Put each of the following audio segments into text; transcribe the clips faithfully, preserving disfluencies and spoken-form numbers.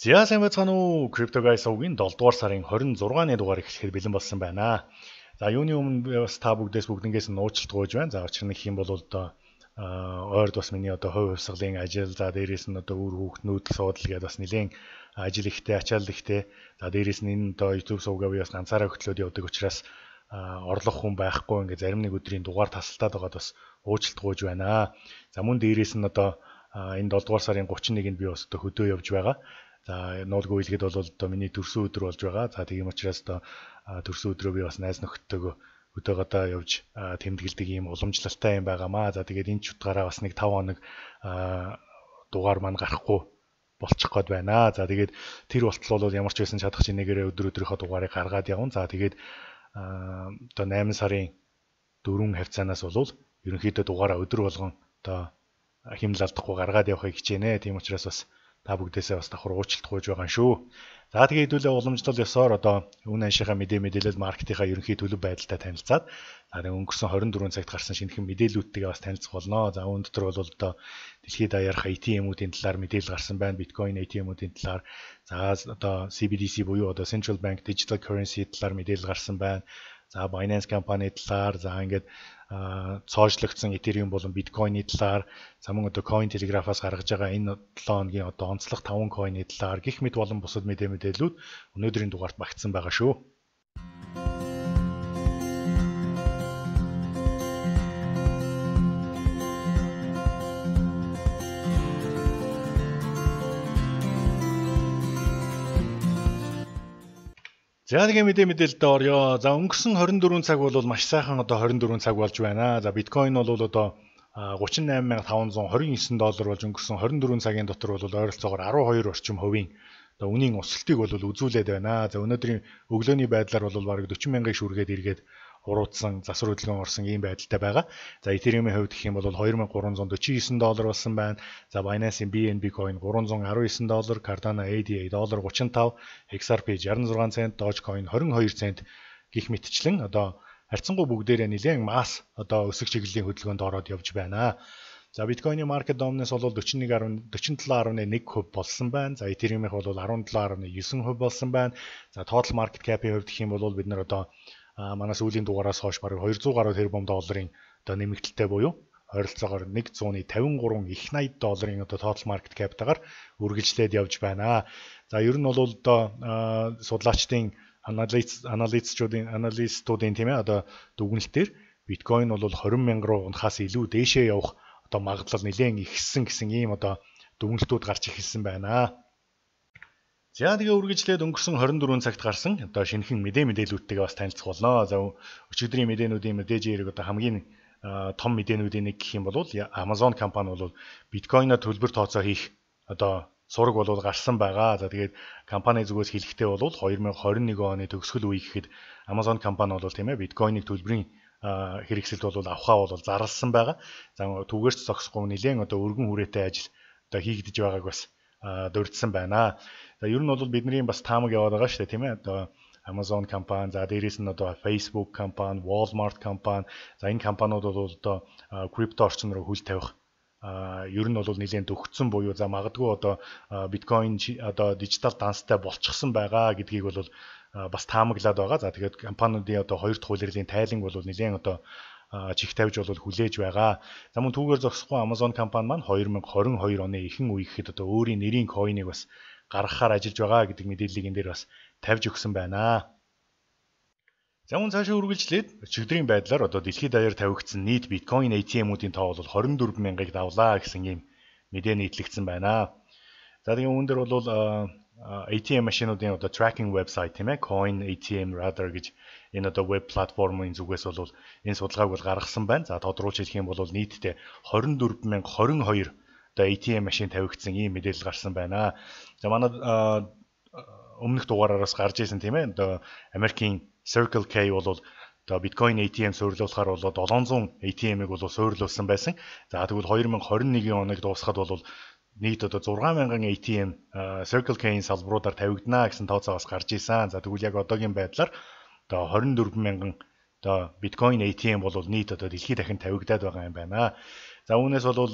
За сайн байцгаана уу? Crypto Guys угийн долдугаар сарын хорин зургааны дугаар эхлэхэд бэлэн болсон байна. За юуны өмнө бас та бүгдээс бүгднгээс нь уучлалт гуйж байна. За учир нь гэх юм бол одоо ойрд бас миний одоо хувь хувьсгалын ажил, за дээрээс нь одоо үр хүүхнүүд суудал гэдээ бас нэлээд ажил ихтэй, ачаал ихтэй. За дээрээс нь энэ одоо YouTube сувгаа би бас ганцаараа хөтлөөд явдаг учраас орлох хүн байхгүй ингээд зарим нэг өдрийн дугаар тасалтаад байгаад бас уучлалт гуйж байна. За мөн дээрээс нь одоо энэ долдугаар сарын гучин нэгэнд би бас одоо хөдөө явж байгаа. За нуулгүй хэлгээд бол одоо миний төрсөн өдөр болж байгаа. За тийм учраас одоо төрсөн өдрөө би бас найз нөхдөдөө өдөөгөөдөө явж тэмдэглэдэг ийм уламжлалтай юм байгаамаа. За тэгээд энэ ч утгаараа бас нэг таван хоног дугаар маань гарахгүй болчих гээд байна. За тэгээд тэр болтол бол ямар ч байсан чадах чинь нэгээрээ өдөр өдрийнхөө дугаарыг гаргаад явна. За тэгээд одоо найман сарын дөрвөн хавцаанаас бол ерөнхийдөө дугаараа өдөр болгон одоо хэмнэл алдахгүй гаргаад явахыг хичээнэ. Тийм учраас бас та бүгдээсээ бас давхар уучлалт гуйж байгаа шүү. За тэгээ хэдүүлээ уламжлал ёсоор одоо үн аншийнхаа мэдээ мэдээлэл маркетингаа ерөнхий төлөв байдалтай танилцаад за тэгээ өнгөрсөн хорин дөрвөн цагт гарсан шинэхэн мэдээллүүдтэйгээ бас танилцах болно. За үүн дотор бол одоо дэлхийд даярх эй ти эм-үүдийн талаар мэдээлэл гарсан байна. Биткойн эй ти эм-үүдийн талаар за одоо си би ди си буюу одоо Central Bank Digital Currency талаар мэдээлэл гарсан байна. За Binance компани талаар за ингээд цоошлогдсон Ethereum болон Bitcoin-ийн талаар за мөн одоо Coin Telegraph-аас гаргаж байгаа энэ долоо хоногийн одоо онцлог таван coin-ийн талаар гих мэд болон бусад мэдээ мэдээллүүд өнөөдрийн дугаарт багтсан байгаа шүү. За нэг мэдээ мэдээлэлд орё. За өнгөрсөн хорин дөрвөн цаг бол маш сайхан одоо хорин дөрвөн цаг болж байна. За биткойн бол одоо гучин найман мянга таван зуун хорин девять доллар болж өнгөрсөн хорин дөрвөн цагийн дотор бол ойролцоогоор арван хоёр орчим хувийн одоо үнийн өсөлтийг бол үзүүлээд байна. За өнөөдрийн өглөөний байдлаар бол бараг дөрвөн мянган шүргээд эргээд уруудсан засвар хөдөлгөөн орсон ийм байдалтай байгаа. За Ethereum-ийн хувьд гэх юм бол хоёр мянган гурван зуун дөрвөн девять доллар болсон байна. За Binance-ийн би эн би coin гурван зуун арван девять доллар, Cardano эй ди эй доллар гучин тав, икс ар пи шестьдесят шесть цент, Dogecoin двадцать два цент гих мэтчлэн одоо харьцангуй бүгдээрээ нэлээд масс одоо өсөх чиглэлийн хөдөлгөөнд ороод явж байна. За Bitcoin-ийн market dominance бол дөрвөн нэг дөрвөн долоо гаруй нэг хувь болсон байна. За Ethereum-ийнх бол арван долоо гаруй девять хувь болсон байна. За total market cap-ийн хувьд гэх юм бол бид нар одоо манай сүүлийн дугаараас хойш бараг двести гаруй тэрбум долларын одоо нэмэгдэлтэй буюу ойролцоогоор нэгдуйсад тавин гурван их найдаад долларын одоо total market cap-тайгаар үргэлжлээд явж байна. За ер нь бол одоо судлаачдын анализ анализчдын аналистуудын тийм ээ одоо дүгнэлтээр биткойн бол двадцать мянга руу унахаас илүү дээшээ явах одоо магадлал нэлээд ихссэн гэсэн ийм одоо дүгнэлтүүд гарч ирсэн байна. За тэгээ үргэлжлээд өнгөрсөн хорин дөрвөн цагт гарсан одоо шинэхэн мэдээ мэдээллүүдтэйгээ бас танилцах болно. За өчигдрийн мэдээнүүдийн мэдээж хэрэг одоо хамгийн том мэдээнүүдийн нэг гэх юм бол Amazon компани бол биткойноор төлбөр тооцоо хийх одоо сураг бол гарсан байгаа. За тэгээд компани зүгээс хэлэхдээ бол две тысячи двадцать one оны төгсгөл үе гэхэд Amazon компани бол тийм ээ биткойныг төлбөрийн хэрэгсэлд бол авахаа бол зарласан байгаа. За түүгээрч зогсохгүй нэлээд одоо өргөн хүрээтэй ажил одоо хийгдэж байгааг бас дурдсан байна. За ер нь бол бидний бас таамаг яваад байгаа шүү дээ тийм ээ. Одоо Amazon компани, за дээрээс нь одоо Facebook компани, Walmart компани, за энэ компаниуд бол одоо крипто орчин руу хөл тавих ер нь бол нэлээд дөгцсөн буюу за магадгүй одоо биткойн одоо дижитал данстай болчихсон байгаа гэдгийг бол бас таамаглаад байгаа. За тэгээд компаниудын одоо хоёр дахь улирлын тайланг бол нэлээд одоо чих тавьж бол хүлээж байгаа. За мөн түүгээр зогсохгүй Amazon компани маань две тысячи двадцать two оны ихэнх үе гэхэд одоо өөрийн нэрийн койныг бас гаргахаар ажиллаж байгаа гэдэг мэдээллийг энэ дээр бас тавьж өгсөн байна. За мөн цаашаа үргэлжлээд өчигдрийн байдлаар одоо дэлхийд даяар тавигдсан нийт биткойн эй ти эм-үүдийн тоо бол двадцать four мянгаыг давлаа гэсэн ийм мэдээ нийтлэгдсэн байна. За тэгээд үүн дээр бол эй ти эм машинуудын одоо tracking website тийм ээ Coin эй ти эм Radar гэж энэ одоо веб платформын зүгээс бол энэ судалгааг бол гаргасан байна. За тодруулж хэлэх юм бол нийтдээ двадцать four мянга twenty-two одоо эй ти эм машин тавигдсан ийм мэдээлэл гарсан байна. За манай өмнөх дугаараараас гарч ирсэн тийм ээ одоо Америкийн Circle K бол одоо биткойн эй ти эм суйрлуулахаар бол seven hundred эй ти эм-ийг бол суйрлуулсан байсан. За тэгвэл twenty twenty-one оныг дуусгаад бол нийт одоо six thousand эй ти эм Circle K-ийн салбаруудаар тавигдана гэсэн тооцоо бас гарч ирсэн. За тэгвэл яг одоогийн байдлаар одоо twenty-four thousand одоо биткойн эй ти эм бол нийт одоо дэлхийд дахин тавигдаад байгаа юм байна. За үүнээс бол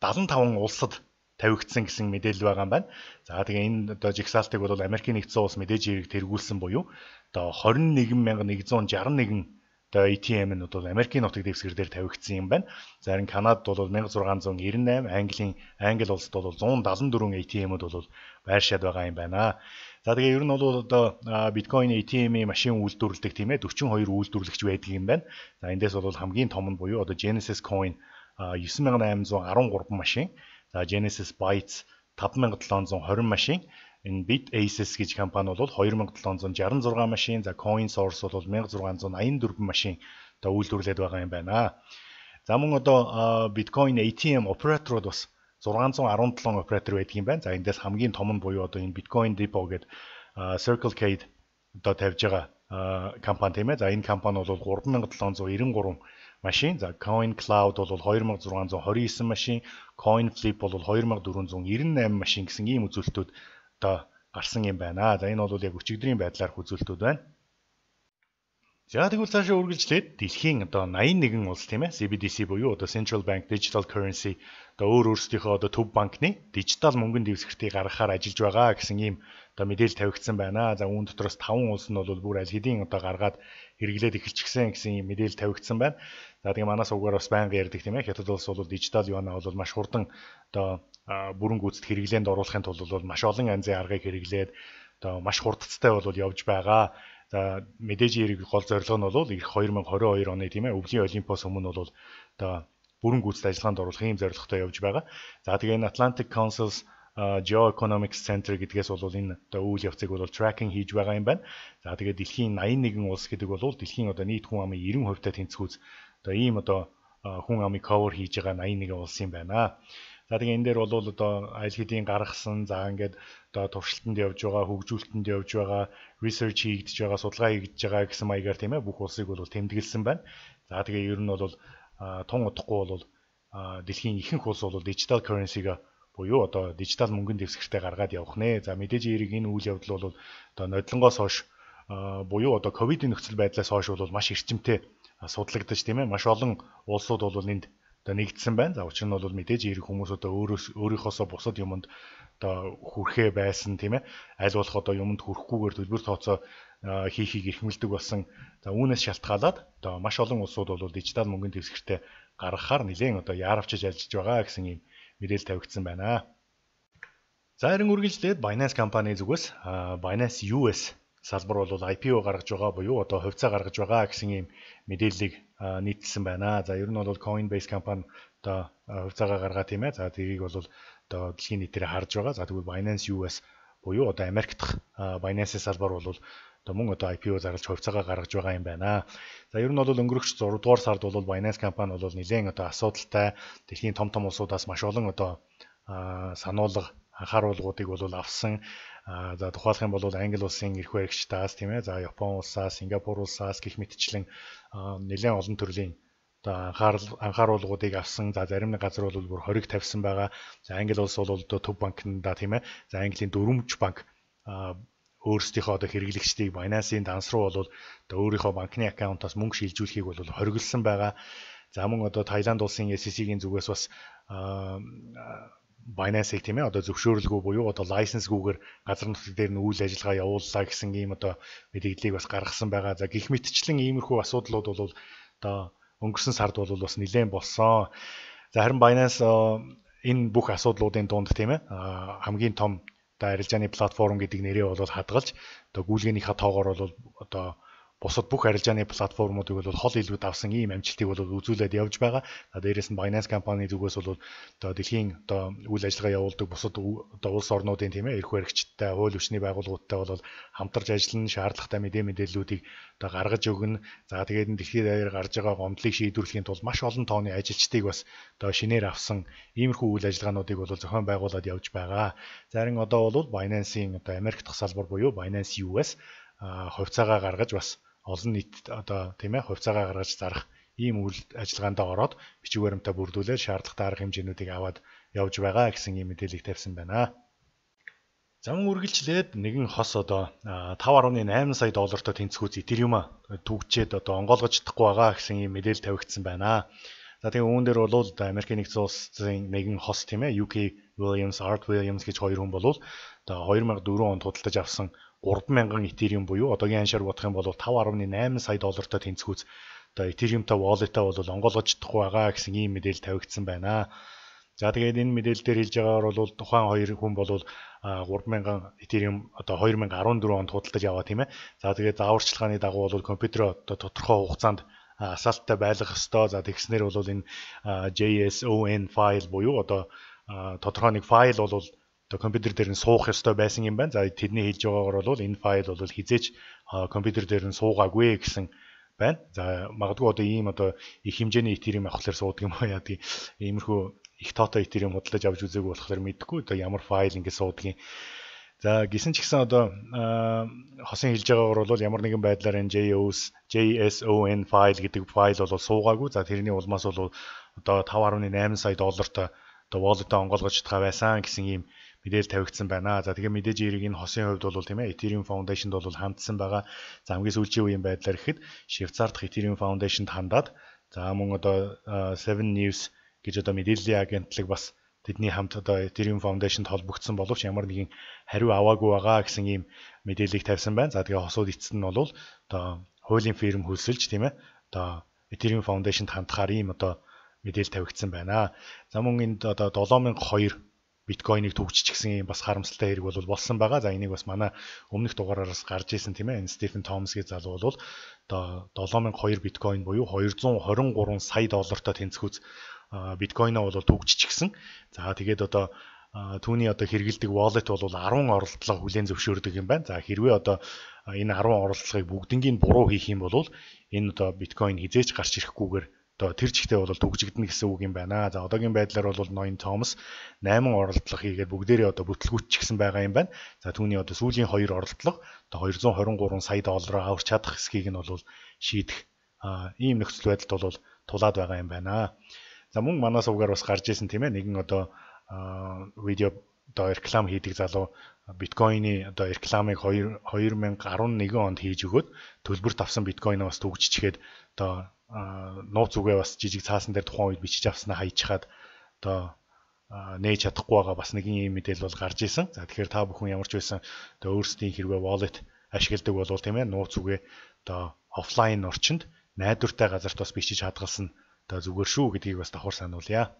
seventy-five улсад тавигдсан гэсэн мэдээлэл байгаа юм байна. За тэгээ энэ одоо жигсаалтыг бол Америкийн нэгдсэн улс мэдээж хэрэг тэргүүлсэн буюу одоо двадцать и один мянга нэгдүгээр шестьдесят один одоо эй ти эм-д бол Америкийн нутаг дэвсгэр дээр тавигдсан юм байна. За харин Канадад бол 천ix hundred ninety-eight, Английн Англи улсад бол one seventy-four эй ти эм-д бол байршаад байгаа юм байна. За тэгээ ер нь бол одоо биткойн эй ти эм-ийн машин үйлдвэрлэдэг тийм ээ forty-two үйлдвэрлэгч байдаг юм байна. За эндээс бол хамгийн том нь буюу одоо Genesis Coin nine thousand eight hundred thirteen машин. За Genesis Bytes five thousand seven hundred twenty машин. Энэ BitAces гэж компани бол two thousand seven hundred sixty-six машин. За CoinSource бол one thousand six hundred ninety-four машин одоо үйлдвэрлээд байгаа юм байна. За мөн одоо Bitcoin эй ти эм операторууд бас six hundred seventeen оператор байдаг юм байна. За эндээс хамгийн том нь буюу одоо энэ Bitcoin Depot гэдэг Circle K одоо тавьж байгаа компани тийм ээ. За энэ компани бол three thousand seven hundred ninety-three машин. За Coin Cloud бол two thousand six hundred twenty-nine машин, Coin Flip бол two thousand four hundred ninety-eight машин гэсэн ийм үзүүлэлтүүд одоо гарсан юм байна. За энэ бол яг өчигдрийн байдлаарх үзүүлэлтүүд байна. За тэгвэл цаашаа үргэлжлээд дэлхийн одоо eighty-one улс тийм ээ си би ди си буюу одоо Central Bank Digital Currency одоо өөр өөрсдийнхөө одоо төв банкны дижитал мөнгөнд дэвсгэртийг гаргахаар ажиллаж байгаа гэсэн ийм одоо мэдээлэл тавигдсан байна. За үүн дотроос five улс нь бол бүр аль хэдийн одоо гаргаад хэрэглээд эхэлчихсэн гэсэн ийм мэдээлэл тавигдсан байна. За тэгээ манаас угаар бас байнга ярьдаг тийм ээ Хятад улс бол дижитал юанаа бол маш хурдан одоо бүрэн гүйцэд хэрэглээнд оруулахын тулд бол маш олон янзын аргыг хэрэглээд одоо маш хурдцтай бол явж байгаа. За мэдээж хэрэг гол зорилго нь бол ирэх twenty twenty-two оны тийм ээ өвлийн олимпиос өмнө бол одоо бүрэн гүйцэд ажиллагаанд оруулах ийм зорилготой явж байгаа. За тэгээ энэ Atlantic Council's Geoeconomics Center гэдгээс бол энэ одоо үйл явцыг бол tracking хийж байгаа юм байна. За тэгээ дэлхийн eighty-one улс гэдэг бол дэлхийн одоо нийт хүн амын ninety percent-тай тэнцвүүц одоо ийм одоо хүн амыг cover хийж байгаа eighty-one улс юм байна. За тэгээ энэ дээр бол одоо аль хэдийн гаргасан за ингээд одоо туршилтанд явж байгаа, хөгжүүлэлтэнд явж байгаа, research хийгдэж байгаа, судалгаа хийгдэж байгаа гэсэн маягаар тийм ээ бүх улсыг бол тэмдэглэсэн байна. За тэгээ ер нь бол тун удахгүй бол дэлхийн ихэнх улс бол digital currency-г буюу одоо дижитал мөнгөнд дэвсгэртээ гаргаад явах нэ. За мэдээж хэрэг энэ үйл явдал бол одоо нодлонгоос хойш буюу одоо ковидын нөхцөл байдлаас хойш бол маш эрчимтэй судлагдаж тийм ээ маш олон улсууд бол энд одоо нэгдсэн байна. За учир нь бол мэдээж хэрэг хүмүүс одоо өөрөөс өөрийнхоосоо бусад юмд одоо хүрхээ байсан тийм ээ. Аль болох одоо юмд хүрэхгүйгээр төлбөр тооцоо хийхийг эрхэмлдэг болсон. За үүнээс шалтгаалаад одоо маш олон улсууд бол дижитал мөнгөнд дэвсгэртээ гаргахаар нэлээд одоо яарвчж ажиллаж байгаа гэсэн юм мэдээлэл тавигдсан байна. За харин үргэлжлээд Binance компани зүгээс Binance ю эс салбар бол ай пи о гаргаж байгаа буюу одоо хувьцаа гаргаж байгаа гэсэн юм мэдээллийг нийтэлсэн байна. За ер нь бол Coinbase компани одоо хувьцаагаа гаргаа тийм ээ. За тэрийг бол одоо дэлхийн нийтээр харж байгаа. За тэгвэл Binance ю эс буюу одоо Америк дахь Binance салбар бол одоо мөн одоо ай пи о зарлж хувьцаагаа гаргаж байгаа юм байна. За ер нь бол өнгөрөх зураг дугаар сард бол Binance компани бол нэлээд одоо асуудалтай дэлхийн том том улсуудаас маш олон одоо сануулга анхааруулгуудыг бол авсан. За тухайлх юм бол Англи улсын эрх баригчдаас тийм ээ. За Япон улсаас, Сингапур улсаас гэх мэтчлэн нэлээд олон төрлийн одоо анхааруулгуудыг авсан. За зарим нэг газар бол бүр хориг тавьсан байгаа. За Англи улс бол одоо төв банкнда тийм ээ. За Английн дөрвөмж банк өөрсдийнхөө одоо хэрэглэгчдийг Binance-ийн данс руу бол одоо өөрийнхөө банкны аккаунтаас мөнгө шилжүүлэхийг бол хориглосон байгаа. За мөн одоо Таиланд улсын эс и си-ийн зүгээс бас Binance-ийг тийм ээ одоо зөвшөөрлгүй буюу одоо лайсенсгүйгээр газар нутаг дээр нь үйл ажиллагаа явууллаа гэсэн ийм одоо мэдээллийг бас гаргасан байгаа. За гэх мэтчлэн иймэрхүү асуудлууд бол одоо өнгөрсөн сард бол бас нэлээд болсон. За харин Binance энэ бүх асуудлуудын дунд тийм ээ хамгийн том одоо арилжааны платформ гэдэг нэрээ бол хадгалж одоо гүйлгээнийхээ тоогоор бол одоо бусад бүх арилжааны платформуудыг бол хол илүүд авсан ийм амжилтыг бол үзүүлээд явж байгаа. За дээрээс нь Binance компани зүгээс бол одоо дэлхийн одоо үйл ажиллагаа явуулдаг бусад одоо улс орнуудын тийм ээ эрх баригчдтай, хууль хүчний байгууллагуудтай бол хамтарч ажиллана, шаардлагатай мэдээ мэдээллүүдийг одоо гаргаж өгнө. За тэгээд энэ дэлхийд даяар гарч байгаа гомдлыг шийдвэрлэхийн тулд маш олон тооны ажилчдыг бас одоо шинээр авсан иймэрхүү үйл ажиллагаануудыг бол зохион байгуулад явж байгаа. За харин одоо бол Binance-ийн одоо Америк дахь салбар буюу Binance ю эс хувьцаагаа гаргаж бас олон нийт одоо тийм ээ хувьцаагаа гаргаж зарах ийм үйл ажиллагаанд ороод бичиг баримтаа бүрдүүлээд шаардлагатай арга хэмжээнүүдийг аваад явж байгаа гэсэн ийм мэдээллийг тавьсан байна. За мөн үргэлжлээд нэгэн хос одоо five point eight сая доллартай тэнцвүүц Ethereum түгчээд одоо онгойлгож чадахгүй байгаа гэсэн ийм мэдээлэл тавигдсан байна. За тэгээ үүн дээр бол Америкийн нэгдсэн улсын нэгэн хос тийм ээ ю кей Williams, Art Williams гэж хоёр хүн болвол одоо two thousand four онд худалдаж авсан three thousand Ethereum буюу одоогийн ханшаар бодох юм бол five point eight сая доллартай тэнцвүүц одоо Ethereum-тай wallet-тай бол онгойлгож чадахгүй байгаа гэсэн ийм мэдээлэл тавигдсан байна. За тэгээд энэ мэдээлэл дээр хэлж байгаагаар бол тухайн хоёр хүн бол three thousand Ethereum одоо two thousand fourteen онд худалдаж аваа тийм ээ. За тэгээд зааварчилгааны дагуу бол компьютер одоо тодорхой хугацаанд асаалттай байлгах ёстой. За тэгснээр бол энэ JSON файл буюу одоо тодорхой нэг файл бол одоо компьютер дээр нь суух ёстой байсан юм байна. За тэдний хэлж байгаагаар бол энэ файл бол хизээч компьютер дээр нь суугаагүй гэсэн байна. За магадгүй одоо ийм одоо их хэмжээний Ethereum авахлаар суудаг юм уу яа тийм иймэрхүү их тоотой Ethereum худалдаж авч үзээгүй болохоор мэдэхгүй одоо ямар файл ингэ суудгийг. За гисэн ч гэсэн одоо хосын хэлж байгаагаар бол ямар нэгэн байдлаар энэ JSON файл гэдэг файл бол суугаагүй. За тэрний улмаас бол одоо five point eight сая доллартай одоо wallet-аа онгойлгож чадгаа байсан гэсэн ийм мэдээлэл тавигдсан байна. За тэгээ мэдээж эрийг энэ хосын хувьд бол тийм ээ Ethereum Foundation-д бол хандсан байгаа. За хамгийн сүүлийн үеийн байдлаар ихэд Швейцар дахь Ethereum Foundation-д хандаад за мөн одоо seven news гэж одоо мэдээллийн агентлаг бас тэдний хамт одоо Ethereum Foundation-д холбогдсон боловч ямар нэгэн хариу аваагүй байгаа гэсэн ийм мэдээллийг тавьсан байна. За тэгээ хосууд эцэст нь бол одоо хуулийн фирм хөлсөлж тийм ээ одоо Ethereum Foundation-д хандахаар ийм одоо мэдээлэл тавигдсан байна. За мөн энд одоо seven thousand two биткойныг түгжиж гисэн юм бас харамсалтай хэрэг бол болсон байгаа. За энийг бас манай өмнөх дугаараас гарч ирсэн тийм ээ. Энэ Стефен Томс гэж залуу бол одоо seven thousand two биткойн буюу two hundred twenty-three сая доллартай тэнцвүүц биткойноо бол түгжиж гисэн. За тэгээд одоо түүний одоо хэрэгэлдэг wallet бол ten оролдлого хүлээн зөвшөөрдөг юм байна. За хэрвээ одоо энэ ten оролдлогыг бүгднийг буруу хийх юм бол энэ одоо биткойн хизээч гарч ирэхгүйгээр одоо тэр жигтэй бол түгжигдэнэ гэсэн үг юм байна. За одоогийн байдлаар бол Ноён Томас eight оролдлого хийгээд бүгдээрээ одоо бүтлгүүтчихсэн байгаа юм байна. За түүний одоо сүүлийн two оролдлого одоо two hundred twenty-three сая доллараар аварч чадах эсхийг нь бол шийдэх ийм нөхцөл байдалд бол тулаад байгаа юм байна. За мөн манай сувгаар бас гарч ирсэн тийм ээ нэгэн одоо видео одоо реклам хийдэг залуу биткойны одоо рекламыг two thousand eleven онд хийж өгөөд төлбөрт авсан биткойноо бас түгжчихээд одоо нууц үгээ бас жижиг цаасан дээр тухайн үед бичиж авснаа хайчхаад одоо нээж чадахгүй байгаа бас нэгэн ийм мэдээлэл бол гарч исэн. За тэгэхээр та бүхэн ямар ч байсан одоо өөрсдийн хэрвээ wallet ашигладаг болвол тийм ээ нууц үгээ одоо офлайн орчинд найдвартай газарт бас бичиж хадгалсан одоо зүгээр шүү гэдгийг бас давхар сануулъя.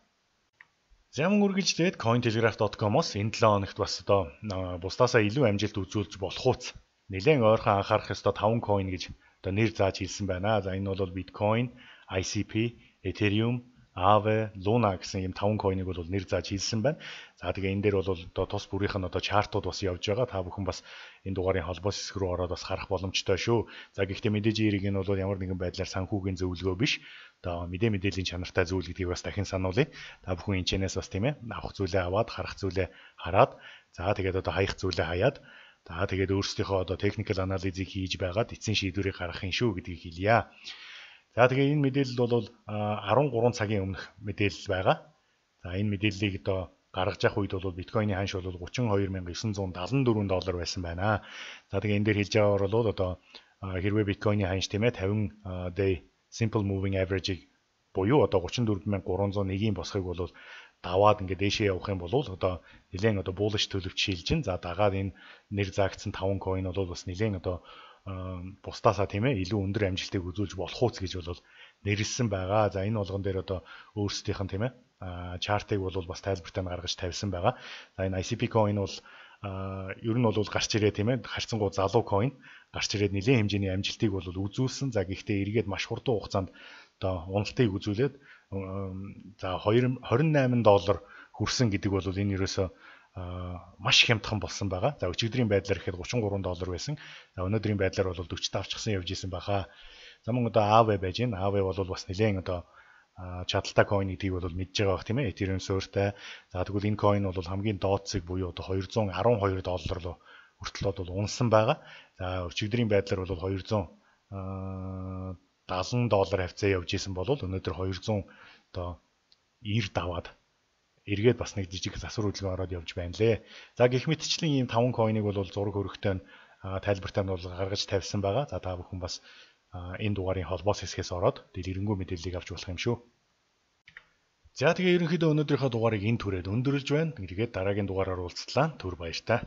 Зам үргэлжлээд cointelegraph dot com-оос энэ seven хоногт бас одоо бусдаасаа илүү амжилт үзүүлж болох уус нэлээд ойрхон анхаарах ёстой five coin гэж одоо нэр зааж хэлсэн байна. За энэ бол Bitcoin, I C P, Ethereum, Aave, Luna гэсэн ийм five coin-ыг бол нэр зааж хэлсэн байна. За тэгээ энэ дээр бол одоо тус бүрийнх нь одоо чартууд бас явж байгаа. Та бүхэн бас энэ дугаарын холбоос хэсэг рүү ороод бас харах боломжтой шүү. За гэхдээ мэдээж эрийг нь бол ямар нэгэн байдлаар санхүүгийн зөвлөгөө биш. Одоо мэдээ мэдээллийн чанартай зүйл гэдгийг бас дахин сануулъя. Та бүхэн энэ чэнээс бас тийм ээ авах зүйлээ аваад, харах зүйлээ хараад, за тэгээд одоо хаях зүйлээ хаяад, за тэгээд өөрсдийнхөө одоо technical analysis-ийг хийж байгаад эцсийн шийдвэрийг гаргахын шүү гэдгийг хэлье. За тэгээд энэ мэдээлэл бол thirteen цагийн өмнөх мэдээлэл байгаа. За энэ мэдээллийг одоо гаргаж явах үед бол биткойны ханш бол thirty-two thousand nine hundred seventy-four доллар байсан байна. За тэгээд энэ дээр хэлж байгаагаар бол одоо хэрвээ биткойны ханш тийм ээ fifty day simple moving average-ийг буюу одоо thirty-four thousand three hundred one-ийн босхийг бол даваад ингээд дээшээ явах юм бол одоо нэлээд одоо bullish төлөвч шилжин. За дагаад энэ нэр заагдсан five coin бол бас нэлээд одоо бусдаасаа тийм ээ илүү өндөр амжилтыг үзүүлж болох уус гэж бол нэрлсэн байгаа. За энэ болгон дээр одоо өөрсдийнх нь тийм ээ чартыг бол бас тайлбартай гаргаж тавьсан байгаа. За энэ I C P coin бол ер нь бол гарч ирээ тийм ээ харьцангуй залуу coin гарч ирээд нэлээд хэмжээний амжилтыг бол үзүүлсэн. За гэхдээ эргээд маш хурдан хугацаанд одоо уналтыг үзүүлээд за twenty-eight доллар хүрсэн гэдэг бол энэ ерөөсөө маш хямдхан болсон байгаа. За өчигдрийн байдлаар ихэд thirty-three доллар байсан. За өнөөдрийн байдлаар бол forty авчихсан явж исэн баха. За мөн одоо Aave байж гэн. Aave бол бас нэлээд одоо чадaltaй coin гэдгийг бол мэдж байгаа бах тийм ээ. Ethereum суурьтай. За тэгвэл энэ coin бол хамгийн дооцыг буюу одоо two hundred twelve доллар руу хүртэл бол унсан байгаа. За өчигдрийн байдлаар бол two hundred seventy доллар хавцаа явж исэн бол өнөөдөр two hundred одоо ninety даваад эргээд бас нэг жижиг засвар хөдөлгөөн ороод явж байна лээ. За гэх мэтчлэн ийм five coin-ыг бол зураг хөрөгтэй тайлбартай нь бол гаргаж тавьсан байгаа. За та бүхэн бас энэ дугаарын холбоос хэсгээс ороод дэлгэрэнгүй мэдээллийг авч болох юм шүү. За тэгээ ерөнхийдөө өнөөдрийнхөө дугаарыг энэ түрээд өндөрлж байна. Тэгээд дараагийн дугаараар уулзтлаа. Түр баяр та.